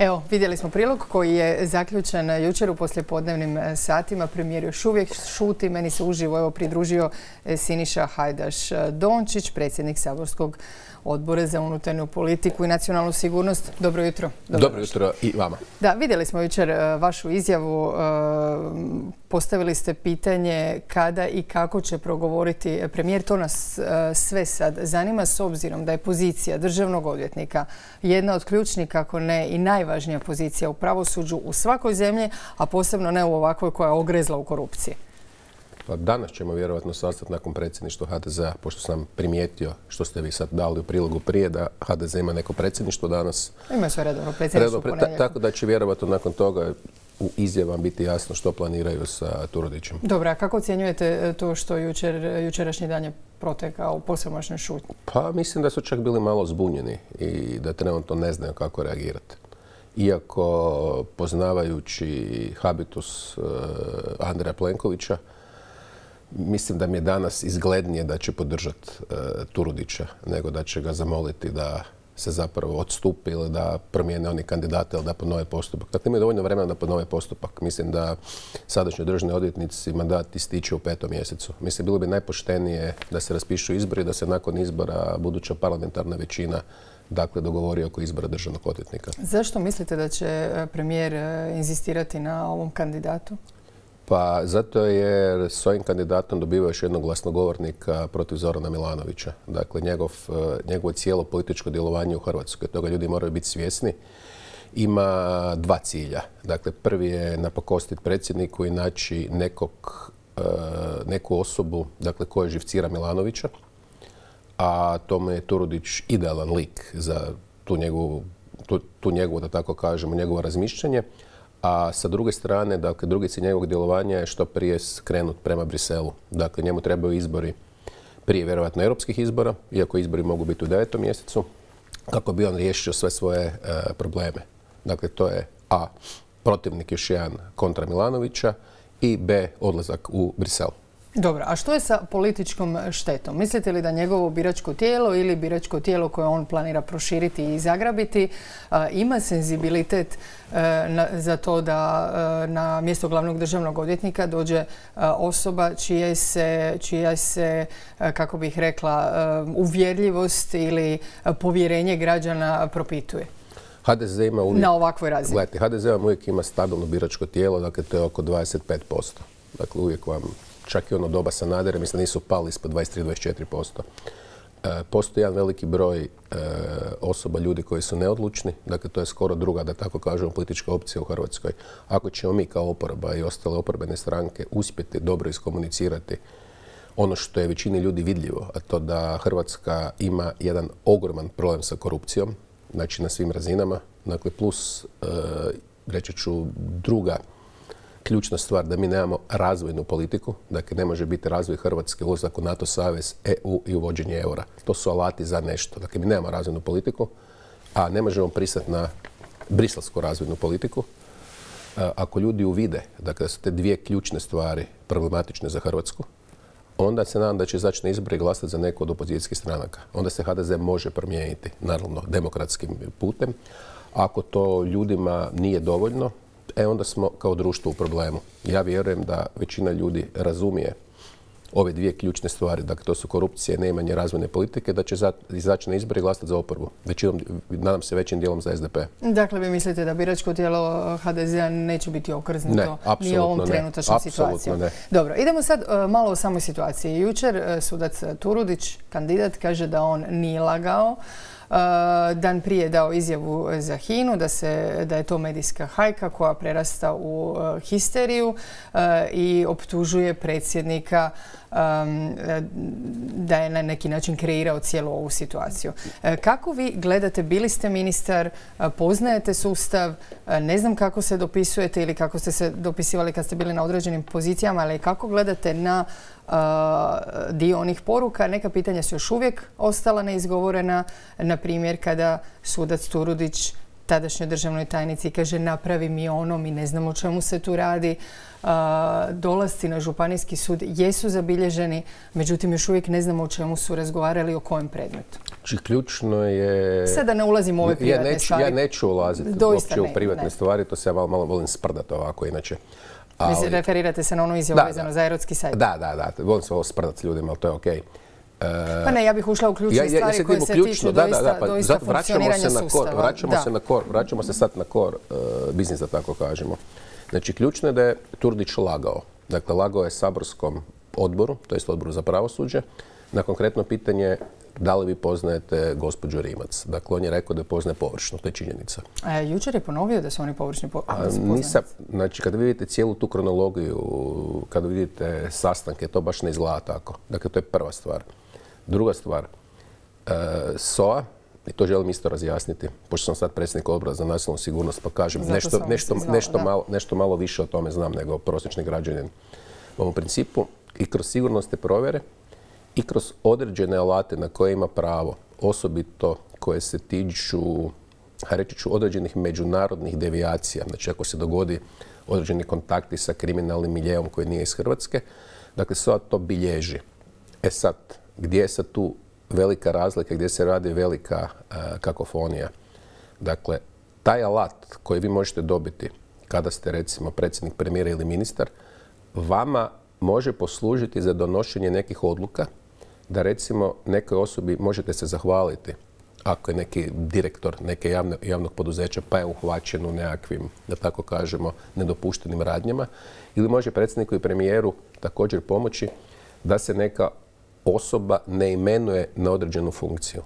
Evo, vidjeli smo prilog koji je zaključen jučer u poslijepodnevnim satima. Premijer još uvijek šuti. Meni se uživo pridružio Siniša Hajdaš-Dončić, predsjednik Saborskog odbora za unutarnju politiku i nacionalnu sigurnost. Dobro jutro. Dobro jutro i vama. Da, vidjeli smo jučer vašu izjavu. Postavili ste pitanje kada i kako će progovoriti premijer. To nas sve sad zanima s obzirom da je pozicija državnog odvjetnika jedna od ključnih, kako ne i najvažnija pozicija u pravosuđu u svakoj zemlji, a posebno ne u ovakvoj koja je ogrezla u korupciji. Pa danas ćemo vjerojatno sastati nakon predsjedništva HDZ-a, pošto sam primijetio, što ste vi sad dali u prilogu prije, da HDZ ima neko predsjedništvo danas. Ima sve redovno predsjedništvo u ponedjeljak. Tako da će vjerojatno nakon toga u izjavama biti jasno što planiraju sa Turudićem. Dobro, a kako ocjenjujete to što jučerašnji dan je protekao u posvemašnoj šutnji? Pa mislim da su čak bili malo zbunjeni i da trenutno ne znaju kako reagirati. Iako poznavajući habitus Andreja Plenkovića, mislim da mi je danas izglednije da će podržati Turudića nego da će ga zamoliti da se zapravo odstupi ili da promijene oni kandidate ili da ponove postupak. Dakle, imaju dovoljno vremena da ponove postupak. Mislim da sadašnji državni odvjetnici mandat ističe u 5. mjesecu. Mislim, bilo bi najpoštenije da se raspišu izbori, da se nakon izbora buduća parlamentarna većina dogovori oko izbora državnog odvjetnika. Zašto mislite da će premijer inzistirati na ovom kandidatu? Pa zato jer s ovim kandidatom dobiva još jednog glasnogovornika protiv Zorana Milanovića. Dakle, njegovo cijelo političko djelovanje u Hrvatskoj, toga ljudi moraju biti svjesni, ima dva cilja. Dakle, prvi je napakostiti predsjedniku i naći neku osobu, dakle, koja živcira Milanovića, a tome je Turudić idealan lik za tu njegovu, da tako kažemo, njegovo razmišljanje. A sa druge strane, dakle, drugi cilj njegovog djelovanja je što prije skrenut prema Briselu. Dakle, njemu trebaju izbori prije vjerojatno europskih izbora, iako izbori mogu biti u 9. mjesecu, kako bi on riješio sve svoje probleme. Dakle, to je A, protivnik još jedan kontra Milanovića i B, odlazak u Brisel. Dobro, a što je sa političkom štetom? Mislite li da njegovo biračko tijelo ili biračko tijelo koje on planira proširiti i zagrabiti ima senzibilitet za to da na mjesto glavnog državnog odvjetnika dođe osoba čija se, kako bih rekla, uvjerljivost ili povjerenje građana propituje? HDZ ima uvijek, na ovakvoj razini. Gledajte, HDZ vam uvijek ima stabilno biračko tijelo, dakle to je oko 25%. Dakle, uvijek vam, čak i ono doba Sanadera, mislim da nisu pali ispod 23-24%. Postoji jedan veliki broj osoba, ljudi koji su neodlučni, dakle to je skoro druga, da tako kažemo, politička opcija u Hrvatskoj. Ako ćemo mi kao oporba i ostale oporbene stranke uspjeti dobro iskomunicirati ono što je većini ljudi vidljivo, a to da Hrvatska ima jedan ogroman problem sa korupcijom, znači na svim razinama, dakle plus, reći ću, druga ključna stvar, da mi nemamo razvojnu politiku, dakle ne može biti razvoj Hrvatske, ulazak u NATO savez, EU i uvođenje eura. To su alati za nešto. Dakle, mi nemamo razvojnu politiku, a ne možemo pristati na briselsku razvojnu politiku. Ako ljudi uvide, dakle, da su te dvije ključne stvari problematične za Hrvatsku, onda se nadam da će izaći na izbore i glasati za neku od opozicijskih stranaka. Onda se HDZ može promijeniti, naravno, demokratskim putem. Ako to ljudima nije dovoljno, onda smo kao društvo u problemu. Ja vjerujem da većina ljudi razumije ove dvije ključne stvari, dakle to su korupcija i neimanje razvojne politike, da će izaći na izbore i glasati za oporbu. Nadam se većim dijelom za SDP. Dakle, vi mislite da biračko tijelo HDZ-a neće biti okrznuto ni ovom trenutačnom situacijom? Ne. Dobro, idemo sad malo o samoj situaciji. Jučer sudac Turudić, kandidat, kaže da on nije lagao. Dan prije dao izjavu za HINA-u da je to medijska hajka koja prerasta u histeriju i optužuje predsjednika da je na neki način kreirao cijelu ovu situaciju. Kako vi gledate, bili ste ministar, poznajete sustav, ne znam kako se dopisujete ili kako ste se dopisivali kad ste bili na određenim pozicijama, ali kako gledate na dio onih poruka? Neka pitanja su još uvijek ostala neizgovorena, na primjer kada sudac Turudić tadašnjoj državnoj tajnici i kaže napravi mi ono, mi ne znamo o čemu se tu radi. Dolasci na Županijski sud jesu zabilježeni, međutim još uvijek ne znamo o čemu su razgovarali, o kojem predmetu. Znači, ključno je... Sad da ne ulazim u ove privatne stvari. Ja neću ulaziti uopće u privatne stvari, to se ja malo volim sprdati ovako inače. Mislim, referirate se na onu izjavu vezano za erotski sajt. Da, volim se ovo sprdati s ljudima, ali to je okej. Pa ne, ja bih ušla u ključne stvari koje se tiču doista funkcioniranja sustava. Vraćamo se sad na core biznis, da tako kažemo. Znači, ključno je da je Turudić lagao. Dakle, lagao je saborskom odboru, to jest odboru za pravosuđe, na konkretno pitanje da li vi poznajete gospođu Rimac. Dakle, on je rekao da je poznaje površno, to je činjenica. Jučer je ponovio da su oni površni Znači, kada vidite cijelu tu kronologiju, kada vidite sastanke, to baš ne izgleda tako. Dakle, to je prva stvar. Druga stvar, SOA, i to želim isto razjasniti, pošto sam sad predsjednik odbora za nacionalnu sigurnost, pa kažem nešto malo više o tome znam nego prosječni građanin. U ovom principu i kroz sigurnosne provjere i kroz određene alate na koje ima pravo, osobito koje se tiču, reći ću, određenih međunarodnih devijacija, znači ako se dogodi određeni kontakti sa kriminalnim miljeom koji nije iz Hrvatske, dakle SOA to bilježi. E sad, gdje je sad tu velika razlika, gdje se radi velika kakofonija? Dakle, taj alat koji vi možete dobiti kada ste recimo predsjednik, premijer ili ministar, vama može poslužiti za donošenje nekih odluka, da recimo nekoj osobi možete se zahvaliti ako je neki direktor neke javnog poduzeća pa je uhvaćen u nekakvim, da tako kažemo, nedopuštenim radnjama, ili može predsjedniku i premijeru također pomoći da se neka osoba ne imenuje na određenu funkciju,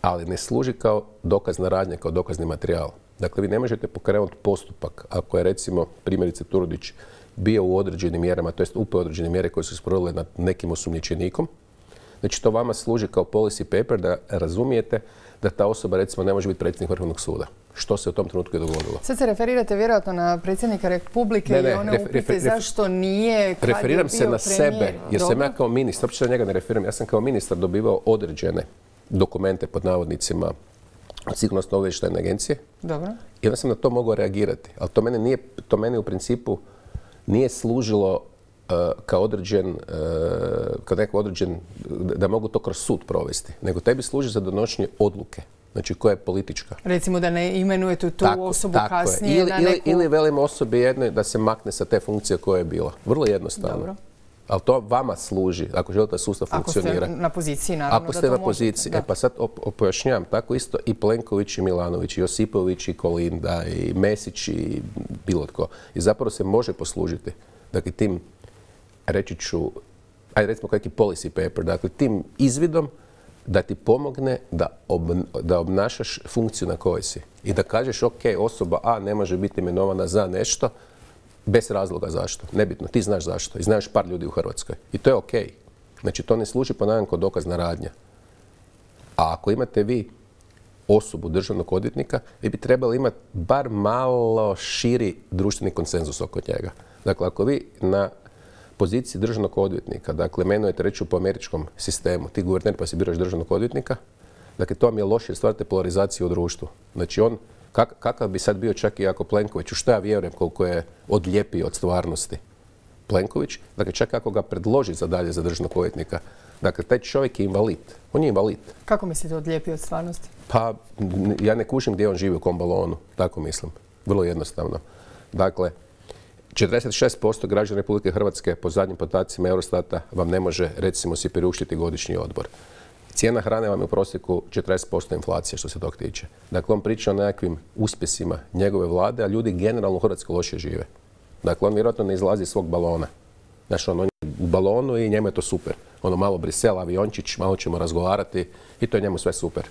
ali ne služi kao dokazna radnja, kao dokazni materijal. Dakle, vi ne možete pokrenuti postupak ako je recimo primjerice Turudić bio u određenim mjerama, to jest upao određene mjere koje su sprovodile nad nekim osumnjičenikom. Znači, to vama služi kao policy paper da razumijete da ta osoba recimo ne može biti predsjednik Vrhovnog suda. Što se u tom trenutku je dogodilo? Sad se referirate vjerojatno na predsjednika Republike i one upite zašto nije kad je bio premijer. Referiram se na sebe, jer sam ja kao ministar, uopće na njega ne referiram, ja sam kao ministar dobivao određene dokumente pod navodnicima od sigurnosno-obavještajne agencije. Dobro. I onda sam na to mogao reagirati. Ali to meni u principu nije služilo kao neko određen, da mogu to kroz sud provesti, nego tebi služi za donošenje odluke, znači koja je politička. Recimo da ne imenujete tu osobu kasnije na neku... Ili velim osobi jednoj da se makne sa te funkcije koja je bila. Vrlo jednostavno. Dobro. Ali to vama služi, ako želite da sustav funkcionira. Ako ste na poziciji, naravno da to možete. Ako ste na poziciji. Pa sad pojašnjavam, tako isto i Plenković i Milanović, i Josipović i Kolinda, i Mesić i bilo tko. I zapravo se može poslužiti. Dakle, tim, reći ću, ajde recimo kakvi policy paper, dakle, tim izvidom da ti pomogne da obnašaš funkciju na kojoj si. I da kažeš, ok, osoba A ne može biti imenovana za nešto, bez razloga zašto. Nebitno, ti znaš zašto. I znaš par ljudi u Hrvatskoj. I to je ok. Znači, to ne služi ponavljam kao dokazna radnja. A ako imate vi osobu državnog odvjetnika, vi bi trebali imati bar malo širi društveni konsenzus oko njega. Dakle, ako vi na poziciji državnog odvjetnika, dakle, imenujete reći po američkom sistemu, ti guverner pa si biraš državnog odvjetnika, dakle, to vam je loše, stvarate polarizaciju u društvu. Znači, on kakav bi sad bio čak i ako Plenković, u što ja vjerujem koliko je odlijepio od stvarnosti Plenković, dakle čak ako ga predloži za dalje za državnog odvjetnika, dakle taj čovjek je invalid. On je invalid. Kako mislite odlijepio od stvarnosti? Pa ja ne kužim gdje on živi, u kom balonu, tako mislim. Vrlo jednostavno. Dakle, 46% građana Republike Hrvatske po zadnjim podacima Eurostata vam ne može recimo si priuštiti godišnji odbor. Cijena hrane vam je u prosjeku 40% inflacije što se tog tiče. Dakle, on priča o nekakvim uspjesima njegove vlade, a ljudi generalno u Hrvatskoj loše žive. Dakle, on vjerojatno ne izlazi iz svog balona. Znači, on je u balonu i njemu je to super. Ono malo Brisel, aviončić, malo ćemo razgovarati i to je njemu sve super.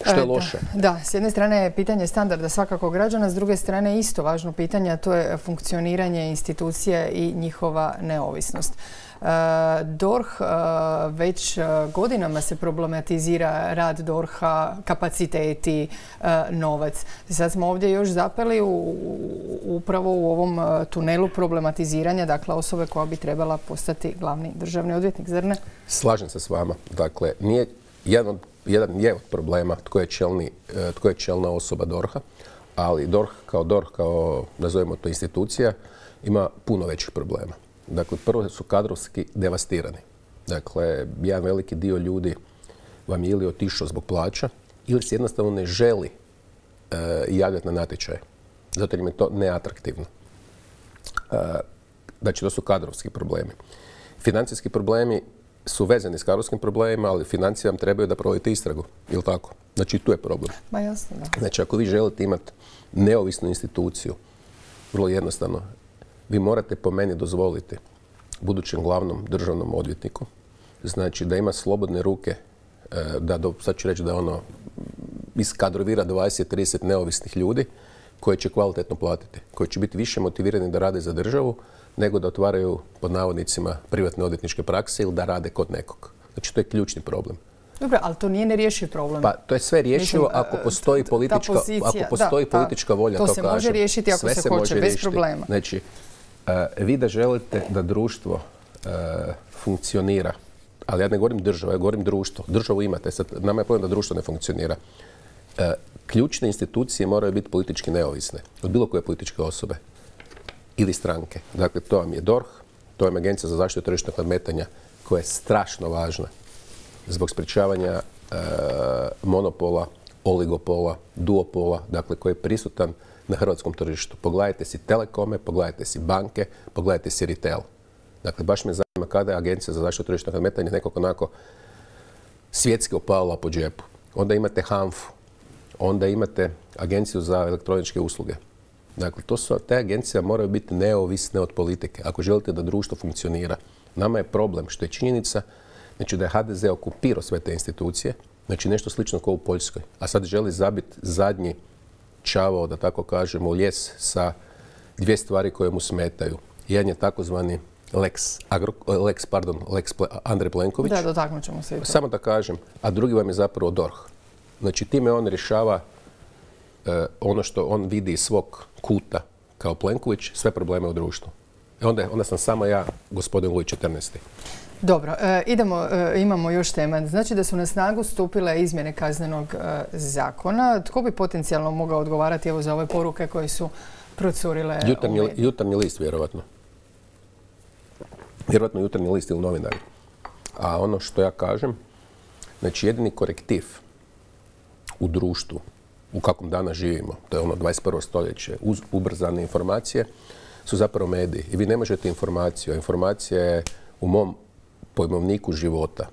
Što je loše? Da, s jedne strane je pitanje standarda svakako građana, s druge strane isto važno pitanje, a to je funkcioniranje institucija i njihova neovisnost. DORH već godinama se problematizira rad DORH-a, kapaciteti, novac. Sad smo ovdje još zapeli upravo u ovom tunelu problematiziranja, dakle osobe koja bi trebala postati glavni državni odvjetnik, zar ne? Slažem se s vama. Dakle, nije jedan od jedan je od problema tko je čelna osoba DORH-a, ali DORH, kao nazovimo to institucija, ima puno većih problema. Dakle, prvo su kadrovski devastirani. Dakle, jedan veliki dio ljudi vam je ili otišao zbog plaća, ili se jednostavno ne želi javljati na natječaje. Zato im je to neatraktivno. Znači, to su kadrovski problemi. Financijski problemi su vezani s kadrovskim problemima, ali financije vam trebaju da provodite istragu, ili tako? Znači, tu je problem. Ma jasno, da. Znači, ako vi želite imati neovisnu instituciju, vrlo jednostavno, vi morate po meni dozvoliti budućem glavnom državnom odvjetniku, znači da ima slobodne ruke, sad ću reći da ono iskadrovira 20-30 neovisnih ljudi koji će kvalitetno platiti, koji će biti više motivirani da rade za državu nego da otvaraju, pod navodnicima, privatne odvjetničke prakse ili da rade kod nekog. Znači, to je ključni problem. Dobro, ali to nije nerješiv problem. Pa to je sve rješivo ako postoji politička volja, to kažem. To se može riješiti ako se hoće, bez problema. Znači, vi da želite da društvo funkcionira, ali ja ne govorim država, ja govorim društvo. Državu imate, sad nama je problem da društvo ne funkcionira. Ključne institucije moraju biti politički neovisne od bilo koje političke osobe ili stranke. Dakle, to vam je DORH, to vam je Agencija za zaštitu tržišnog nadmetanja koja je strašno važna zbog sprječavanja monopola, oligopola, duopola, dakle koji je prisutan na hrvatskom tržištu. Pogledajte si telekome, pogledajte si banke, pogledajte si retail. Dakle, baš me zanima kada je Agencija za zaštitu tržišnog nadmetanja nekako onako svjetski opalila po džepu. Onda imate HANFA-u, onda imate Agenciju za elektroničke usluge. Dakle, te agencije moraju biti neovisne od politike ako želite da društvo funkcionira. Nama je problem što je činjenica, znači da je HDZ okupirao sve te institucije, znači nešto slično kao u Poljskoj, a sad želi zabiti zadnji čavao, da tako kažemo, u lijes sa dvije stvari koje mu smetaju. Jedan je takozvani Lex Andrej Plenković. Da, dotaknut ćemo se i to. Samo da kažem, a drugi vam je zapravo DORH. Znači, time on rješava ono što on vidi iz svog kuta kao Plenković, sve probleme u društvu. Onda sam samo ja, gospodin Luj 14. Dobro, imamo još tema. Znači da su na snagu stupile izmjene kaznenog zakona. Tko bi potencijalno mogao odgovarati evo za ove poruke koje su procurile? Jutarnji list, vjerovatno. Vjerovatno Jutarnji list ili novinari. A ono što ja kažem, znači jedini korektiv u društvu u kakvom danas živimo, to je ono 21. stoljeće, uz ubrzane informacije, su zapravo mediji. I vi ne možete informaciju, a informacija je u mom pojmovniku života.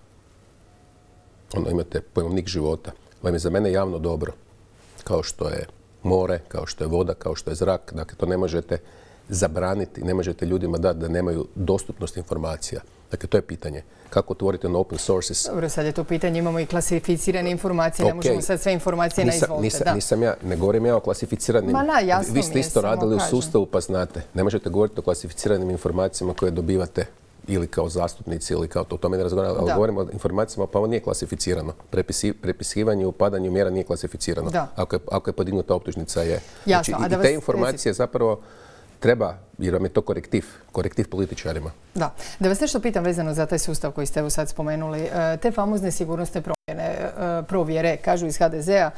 Imate pojmovnik života. Vam je za mene javno dobro. Kao što je more, kao što je voda, kao što je zrak. Dakle, to ne možete zabraniti, ne možete ljudima dati da nemaju dostupnost informacija. Dakle, to je pitanje. Kako otvorite na open sources? Dobro, sad je to pitanje, imamo i klasificirane informacije, ne možemo sad sve informacije na izvolte. Nisam ja, ne govorim ja o klasificiranim. Vi ste isto radili u sustavu pa znate. Ne možete govoriti o klasificiranim informacijama koje dobivate ili kao zastupnici ili kao to. O tome ne razgovaramo, ali govorimo o informacijama, pa ovo nije klasificirano. Prepisivanje i upadanje mjera nije klasificirano. Ako je podignuta optužnica je. Znači, i te informacije zapravo treba, jer vam je to korektiv političarima. Da. Da vas nešto pitam vezano za taj sustav koji ste evo sad spomenuli. Te famozne sigurnosne provjere, kažu iz HDZ-a,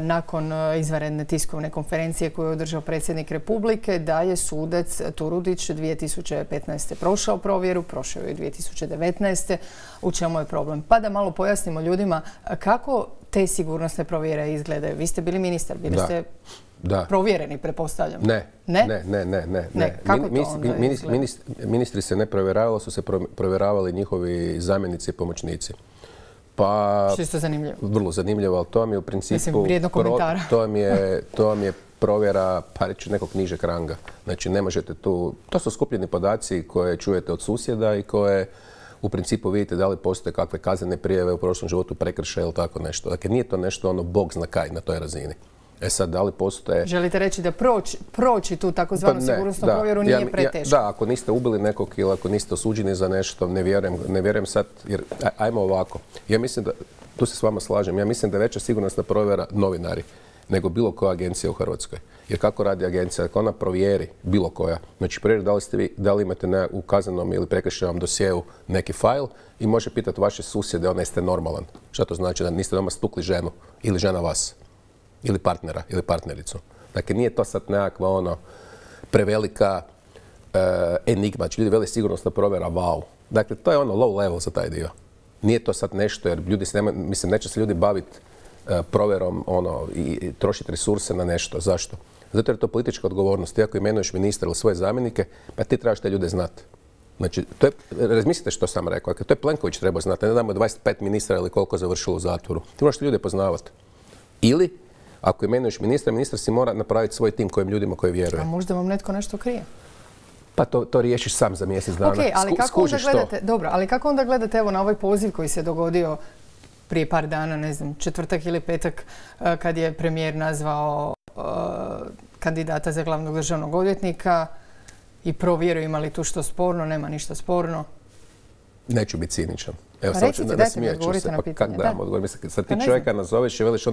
nakon izvanredne tiskovne konferencije koju je održao predsjednik Republike, da je sudac Turudić 2015. prošao provjeru, prošao je 2019. U čemu je problem? Pa da malo pojasnimo ljudima kako te sigurnosne provjere izgledaju. Vi ste bili ministar, bili ste provjereni, pretpostavljam. Ne. Kako to onda izgleda? Ministri se ne provjeravali, su se provjeravali njihovi zamjenici i pomoćnici. Pa, što je to zanimljivo? Vrlo zanimljivo, ali to vam je u principu... Mislim, vrijedno komentara. To vam je provjera, pa reći, nekog nižeg ranga. Znači, ne možete tu... To su skupljeni podaci koje čujete od susjeda i koje u principu vidite da li postoje kakve kaznene prijave u prošlom životu, prekršaje ili tako nešto. Dakle, nije to nešto ono bog zna kaj na toj razini. E sad, da li postoje... Želite reći da proći tu takozvanu sigurnosnu provjeru nije preteško? Da, ako niste ubili nekog ili ako niste osuđeni za nešto, ne vjerujem sad, jer ajmo ovako. Ja mislim da, tu se s vama slažem, ja mislim da je veća sigurnosna provjera novinari. nego bilo koja agencija u Hrvatskoj. Jer kako radi agencija? Ako ona provjeri bilo koja, znači provjeri da li imate u kaznenom ili prekršajnom dosjeu neki fajl i može pitati vaše susjede, ono jeste normalan. Šta to znači? Da niste doma stukli ženu ili žena vas? Ili partnera ili partnericu. Dakle, nije to sad nekakva prevelika enigma. Znači, ljudi veli sigurnosna provjera, wow. Dakle, to je low level za taj dio. Nije to sad nešto, jer ljudi neće se ljudi baviti provjerom i trošiti resurse na nešto. Zašto? Zato jer je to politička odgovornost. Ti ako imenuješ ministra ili svoje zamjenike, pa ti trebaš te ljude znati. Znači, razmislite što sam rekao. Dakle, to je Plenković trebao znati. Ne damo 25 ministra ili koliko završilo u zatvoru. Ti moraš te ljude poznavati. Ili, ako imenuješ ministra, ministar si mora napraviti svoj tim kojim ljudima koji vjeruje. A možda vam netko nešto krije? Pa to riješiš sam za mjesec dana. Okay, ali kako onda gledate, dobro, ali kako onda gledate evo na ovaj poziv koji se dogodio prije par dana, ne znam, četvrtak ili petak, kad je premijer nazvao kandidata za glavnog državnog odvjetnika i provjerio ima li tu što sporno, nema ništa sporno? Neću biti ciničan. Evo, recite, dajte mi odgovorite na pitanje. Kako da vam odgovorim? Sad ti čovjeka nazoveš i veliš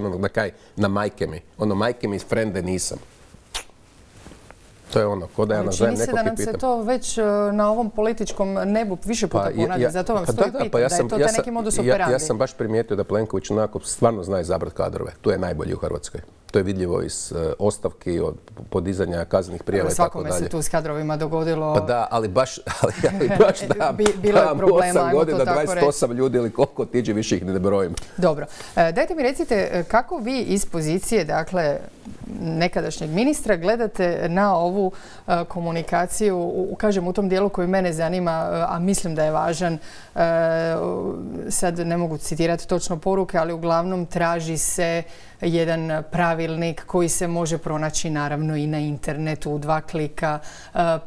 na majke mi. Majke mi frende nisam. To je ko da ja nazovem nekog i pitam. Čini se da nam se to već na ovom političkom nebu više puta ponavlja, zato vam stoji pitam, da je to taj neki modus operandi. Ja sam baš primijetio da Plenković onako stvarno zna izabrati kadrove. Tu je najbolji u Hrvatskoj. To je vidljivo iz ostavki, od podizanja kaznenih prijava i tako dalje. Svakome se tu s kadrovima dogodilo. Pa da, ali baš da. Bilo je problema, 8 godina, 28 ljudi ili koliko tiđe, više ih ne brojim. Dobro. Dajte mi recite kako vi iz pozicije, dakle, nekadašnjeg ministra gledate na ovu komunikaciju, kažem u tom dijelu koji mene zanima, a mislim da je važan. Sad ne mogu citirati točno poruke, ali uglavnom traži se jedan pravilnik koji se može pronaći naravno i na internetu u 2 klika.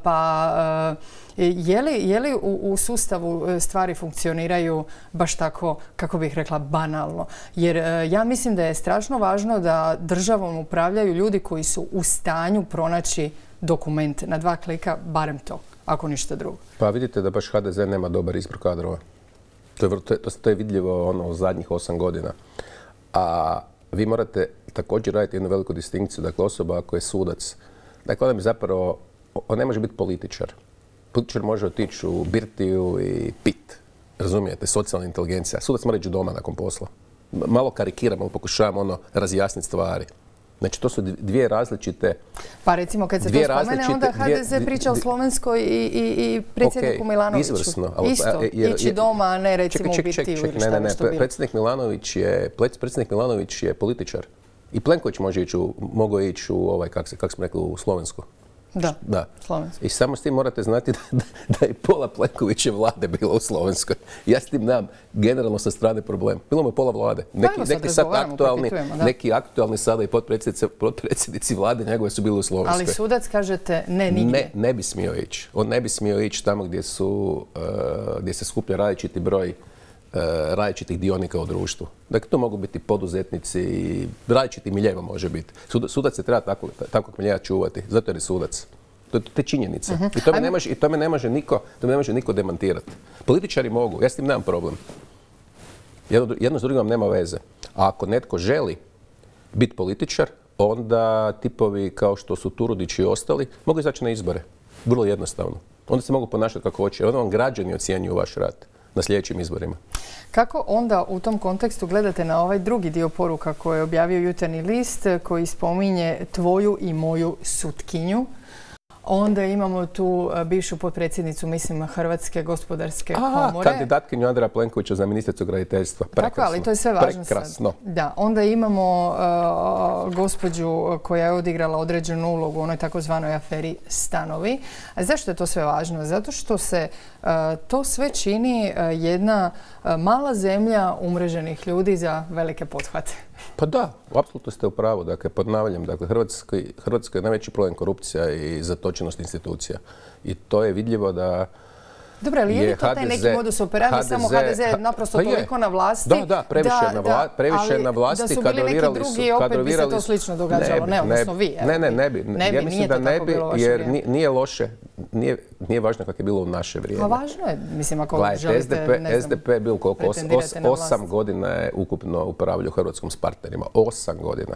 Pa je li u sustavu stvari funkcioniraju baš tako, kako bih rekla, banalno? Jer ja mislim da je strašno važno da državom upravljaju ljudi koji su u stanju pronaći dokument na 2 klika, barem to, ako ništa drugo. Pa vidite da baš HDZ nema dobar izbor kadrova. To je vidljivo u zadnjih 8 godina. A vi morate također raditi jednu veliku distinkciju. Dakle, osoba ako je sudac, dakle, on ne može biti političar. Političar može otići u birtiju i pit. Razumijete? Socijalna inteligencija. Sudac mora ići doma nakon posla. Malo karikiramo, pokušavamo razjasniti stvari. Znači, to su dvije različite... Pa recimo, kad se to spomene, onda HDZ priča o Slovenskoj i predsjedniku Milanoviću. Izvrsno. Isto, ići doma, a ne recimo u birtiju ili šta bi što bilo. Predsjednik Milanović je političar. I Plenković mogao ići u, kako smo rekli, u Slovensku. Da, Slovenskoj. I samo s tim morate znati da je pola Plenkoviće vlade bilo u Slovenskoj. Ja s tim nemam generalno sa strane problem. Bilo mu je pola vlade. Neki aktualni sada i potpredsjednici vlade njegove su bili u Slovenskoj. Ali sudac kažete ne nigdje. Ne bi smio ići. On ne bi smio ići tamo gdje se skuplja različiti broj različitih dionika u društvu. Dakle, to mogu biti poduzetnici i različiti miljeva može biti. Sudac se treba takvog miljeja čuvati, zato jer je sudac. To je činjenica. I to me ne može niko demantirati. Političari mogu, ja s tim nemam problem. Jedno s drugim vam nema veze. A ako netko želi biti političar, onda tipovi kao što su Turudić i ostali mogu izaći na izbore. Vrlo jednostavno. Onda se mogu ponašati kako hoće. Onda vam građani ocjenjuju vaš rad na sljedećim izborima. Kako onda u tom kontekstu gledate na ovaj drugi dio poruka koje je objavio Jutarnji list koji spominje tvoju i moju sutkinju? Onda imamo tu bivšu potpredsjednicu, mislim, Hrvatske gospodarske komore. Kandidatkinju Andreja Plenkovića za ministricu graditeljstva. Tako, ali to je sve važno sad. Da, onda imamo gospođu koja je odigrala određenu ulogu u onoj takozvanoj aferi Stanovi. A zašto je to sve važno? Zato što se to sve čini jedna mala zemlja umreženih ljudi za velike pothvate. Pa da, apsolutno ste u pravu. Dakle, ponavljam, Hrvatskoj je najveći problem korupcija i zatočenost institucija. I to je vidljivo da dobro, ali je li to taj neki modus operandi, samo HDZ je naprosto toliko na vlasti? Da, previše je na vlasti. Da su bili neki drugi, opet bi se to slično događalo. Ne, odnosno vi. Ne bi. Ja mislim da ne bi, jer nije loše. Nije važno kako je bilo u naše vrijeme. Pa važno je, mislim, ako želite, ne znam, SDP je bilo koliko? 8 godina je ukupno upravljao Hrvatskom s partnerima. 8 godina.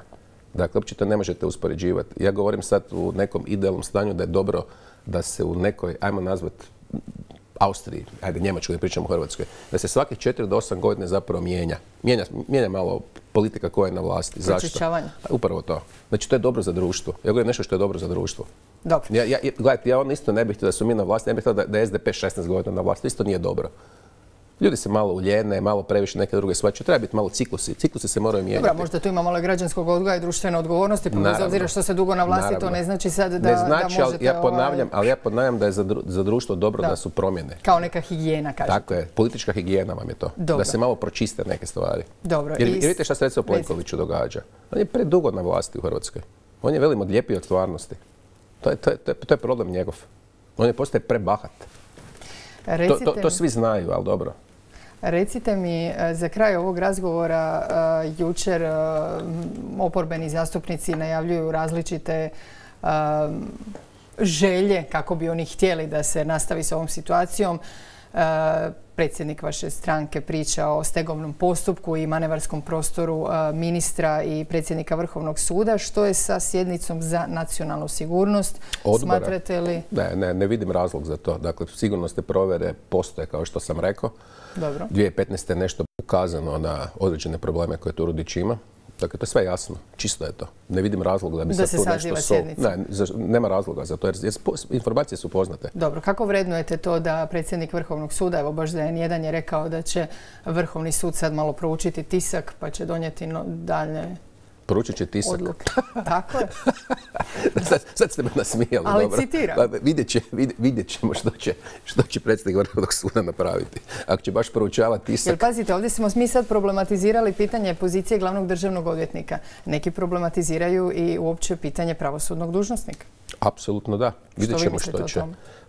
Dakle, uopće to ne možete uspoređivati. Ja govorim sad u nekom idealnom stanju da je dobro da se u nekoj, ajmo nazvati, Austriji, ajde Njemačkoj, ne pričamo o Hrvatskoj, da se svakih 4 do 8 godina zapravo mijenja malo politika koja je na vlasti. Zašto? Upravo to. Znači, to je dobro za društvo. Ja govorim nešto što je dobro za društvo. Dobro. Gledajte, ja isto ne bih htio da su mi na vlasti, ne bih htio da je SDP 16 godina na vlasti, isto nije dobro. Ljudi se malo uljene, malo previše neke druge stvari. Treba biti malo ciklusi. Ciklusi se moraju mijenjati. Dobro, možda tu ima malo građanskog odgoja i društvene odgovornosti, pa bez obzira što se dugo na vlasti, to ne znači sad da možete... Ali ja ponavljam da je za društvo dobro da su promjene. Kao neka higijena, kažete. Tako je, politička higijena vam je to. Da se malo pročiste neke stvari. Dobro. Jer vidite šta se recimo Plenkoviću događa. On je predugo na vlasti u Hrvatskoj. On je velim odlijepio od stvarnosti. To je problem njegov. On je postaje prebahat. To svi znaju, ali dobro. Recite mi, za kraj ovog razgovora jučer oporbeni zastupnici najavljuju različite želje kako bi oni htjeli da se nastavi s ovom situacijom. Predsjednik vaše stranke priča o stegovnom postupku i manevarskom prostoru ministra i predsjednika Vrhovnog suda. Što je sa sjednicom za nacionalnu sigurnost? Odbora. Smatrate li... Ne vidim razlog za to. Dakle, sigurnosne provjere postoje, kao što sam rekao. Dobro. 2015. je nešto ukazano na određene probleme koje Turudić ima. Dakle, to je sve jasno. Čisto je to. Ne vidim razloga da bi se tu nešto... Nema razloga za to, jer informacije su poznate. Dobro, kako vrednujete to da predsjednik Vrhovnog suda, evo baš da N1 je rekao da će Vrhovni sud sad malo proučiti tisak, pa će donijeti dalje... Poručit će tisak. Odluke. Tako je. Sad ste me nasmijali. Ali dobro. Citiram. Vidjet ćemo što će predsjednik Vrhovnog suda napraviti. Ako će baš proučavati tisak... Jer pazite, ovdje smo mi sad problematizirali pitanje pozicije glavnog državnog odvjetnika. Neki problematiziraju i uopće pitanje pravosudnog dužnosnika. Apsolutno da. Vidjet ćemo što će.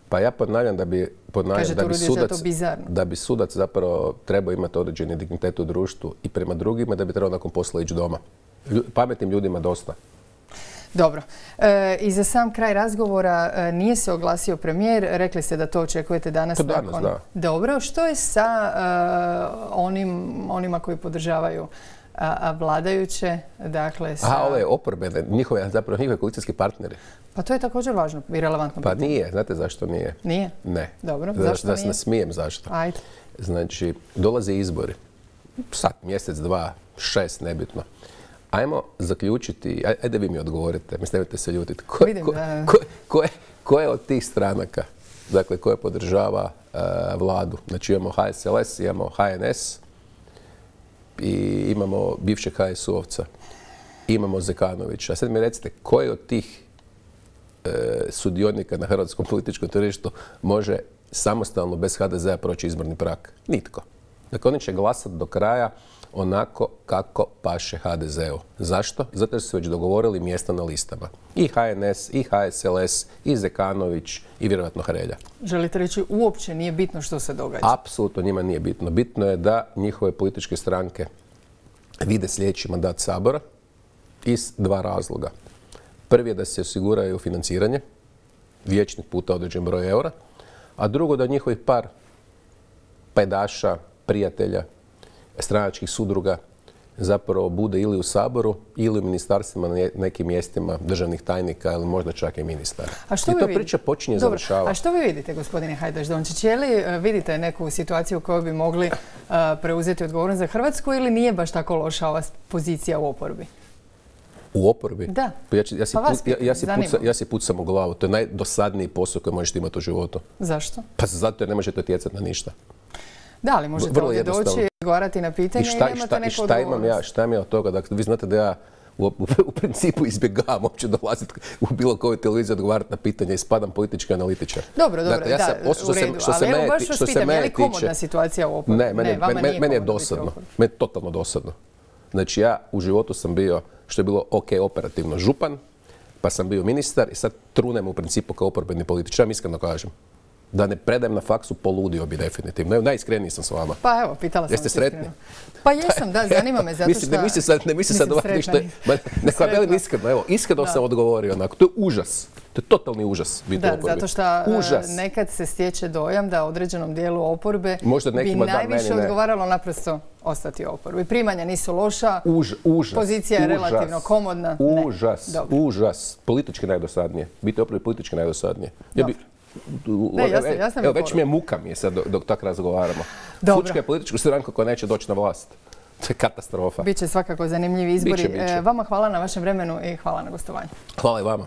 Pa ja ponavljam da bi sudac zapravo trebao imati određeni dignitet u društvu i prema drugima, da bi trebao nakon posla ići doma. Pametnim ljudima dosta. Dobro. I za sam kraj razgovora nije se oglasio premijer. Rekli ste da to očekujete danas. To danas, da. Dobro. Što je sa onima koji podržavaju vladajuće? Dakle, ove oporbene, njihove koalicijski partneri. Pa to je također važno i relevantno. Pa nije. Znate zašto nije? Nije? Ne. Dobro. Zašto nije? Da se nasmijem zašto. Ajde. Znači, dolaze izbori. Sad, mjesec, 2, 6, nebitno. Ajmo zaključiti, ajde vi mi odgovorite, nemojte se ljutiti. Ko je od tih stranaka, dakle, koje podržava vladu? Znači imamo HSLS, imamo HNS i imamo bivšeg HSU-ovca, imamo Zekanovića. A sad mi recite, koji od tih sudionika na hrvatskom političkom tržištu može samostalno bez HDZ-a proći izborni prag? Nitko. Dakle, oni će glasati do kraja onako kako paše HDZ-u. Zašto? Zato jer su već dogovorili mjesta na listama. I HNS, i HSLS, i Zekanović, i vjerojatno Hrelja. Želite reći, uopće nije bitno što se događa? Apsolutno njima nije bitno. Bitno je da njihove političke stranke vide sljedeći mandat Sabora iz 2 razloga. Prvi je da se osiguraju financiranje, vijećnik puta određen broj eura, a drugo da njihovih par pajdaša, prijatelja, stranačkih sudruga zapravo bude ili u Saboru ili u ministarstvima na nekim mjestima državnih tajnika ili možda čak i ministara. I to priča počinje završavati. A što vi vidite, gospodine Hajdaš Dončić? Je li vidite neku situaciju u kojoj bi mogli preuzeti odgovornost za Hrvatsku ili nije baš tako loša ova pozicija u oporbi? U oporbi? Da. Ja si pucam u glavu. To je najdosadniji posao koji možete imati u životu. Zašto? Pa zato jer ne možete utjecati na ništa. Da, ali možete ovdje doći i odgovarati na pitanje i nemate neku odgovornost. Šta imam ja od toga? Dakle, vi znate da ja u principu izbjegavam uopće dolaziti u bilo koju televiziju odgovarati na pitanje i spadam politički analitičar. Dobro, u redu. Ali evo baš vas pitam, je li komodna situacija u oporbi? Ne, meni je dosadno. Meni je totalno dosadno. Znači, ja u životu sam bio, što je bilo ok operativno, župan, pa sam bio ministar i sad trunem u principu kao oporbeni političar, iskreno kažem. Da ne predajem na faksu, poludio bi definitivno. Evo, najiskreniji sam s vama. Pa evo, pitala sam Jeste vas sretni? iskreno. Pa jesam, da, zanima me zato što... Ne misli sad ovako ništa. Neka velim iskreno, evo, iskreno sam odgovorio onako. To je užas. To je totalni užas biti u Da, oporbi. zato što nekad se stječe dojam da određenom dijelu oporbe možda bi nekima da, najviše meni ne. odgovaralo naprosto ostati u oporbi. Primanja nisu loša, Užas. pozicija je relativno komodna. Užas. Politički najdosadnije. Biti u oporbi politički najdosadnije. Jasno Evo, već mi je muka mi je sad dok tak razgovaramo. Fučka je političku stranku koja neće doći na vlast. To je katastrofa. Biće svakako zanimljivi izbori. Biće. Vama hvala na vašem vremenu i hvala na gostovanju. Hvala i vama.